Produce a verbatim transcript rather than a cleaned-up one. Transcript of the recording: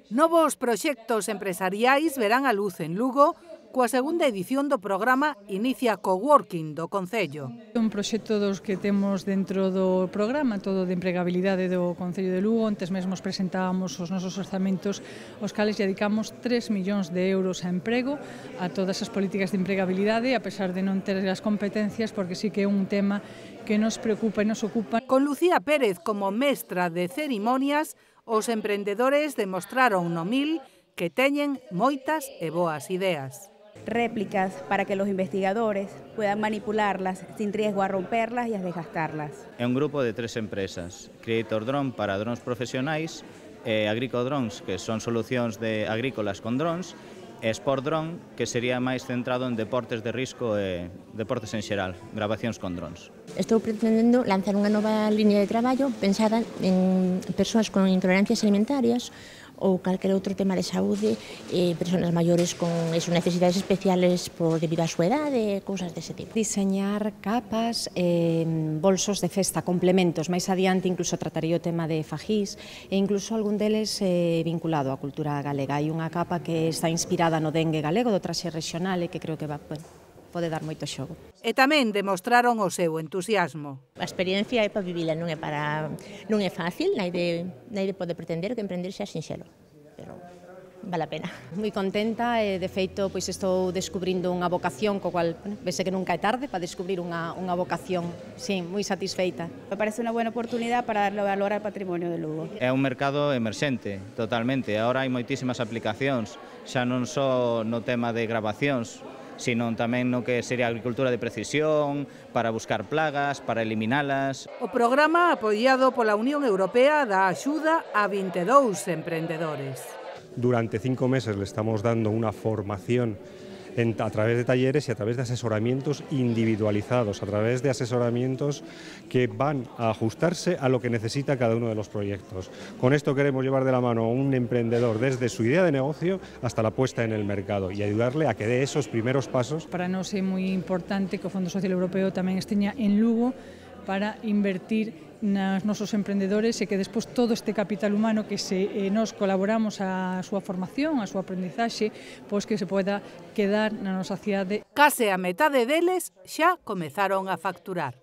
Novos proxectos empresariais verán a luz en Lugo coa segunda edición do programa Inicia Coworking do Concello. Un proxecto dos que temos dentro do programa, todo de empregabilidade do Concello de Lugo. Antes mesmos presentábamos os nosos orzamentos, os cales dedicamos tres millóns de euros a emprego, a todas as políticas de empregabilidade, a pesar de non ter as competencias, porque sí que é un tema que nos preocupa e nos ocupa. Con Lucía Pérez como mestra de cerimonias, os emprendedores demostraron no Mil que teñen moitas e boas ideas. Réplicas para que los investigadores puedan manipularlas sin riesgo a romperlas y a desgastarlas. É un grupo de tres empresas, Creator Drone para drones profesionais, e Agricodrones, que son solucións de agrícolas con drones, e Sport Drone, que sería máis centrado en deportes de risco e deportes en xeral, grabacións con drones. Estou pretendendo lanzar unha nova liña de traballo pensada en persoas con intolerancias alimentarias ou calquer outro tema de saúde, eh, persoas maiores con eso, necesidades especiales por debido á súa idade, cousas dese tipo. Diseñar capas, eh, bolsos de festa, complementos. Máis adiante incluso trataría o tema de fajís e incluso algún deles eh, vinculado á cultura galega. Hai unha capa que está inspirada no dengue galego do traxe regional e que creo que va, bueno, pode dar moito xogo. E tamén demostraron o seu entusiasmo. A experiencia é para vivila, non é para non é fácil, naide naide pode pretender que emprender xa sinxelo, pero vale a pena. Moi contenta e de feito pois estou descubrindo unha vocación co cual, bueno, vese que nunca é tarde para descubrir unha unha vocación. Sí, moi satisfeita. Me parece unha buena oportunidade para darle valor ao patrimonio de Lugo. É un mercado emerxente, totalmente. Agora hai moitísimas aplicacións, xa non só no tema de grabacións, sino tamén no que sería a agricultura de precisión, para buscar plagas, para eliminalas. O programa apoiado pola Unión Europea dá axuda a vinte e dous emprendedores. Durante cinco meses le estamos dando una formación en, a través de talleres y a través de asesoramientos individualizados, a través de asesoramientos que van a ajustarse a lo que necesita cada uno de los proyectos. Con esto queremos llevar de la mano a un emprendedor desde su idea de negocio hasta la puesta en el mercado y ayudarle a que dé esos primeros pasos. Para nós é moi importante que o Fondo Social Europeo tamén esteña en Lugo para invertir nos nosos emprendedores e que despois todo este capital humano que se eh, nos colaboramos a súa formación, a súa aprendizaxe, pois que se poida quedar na nosa cidade. Case a metade deles xa comezaron a facturar.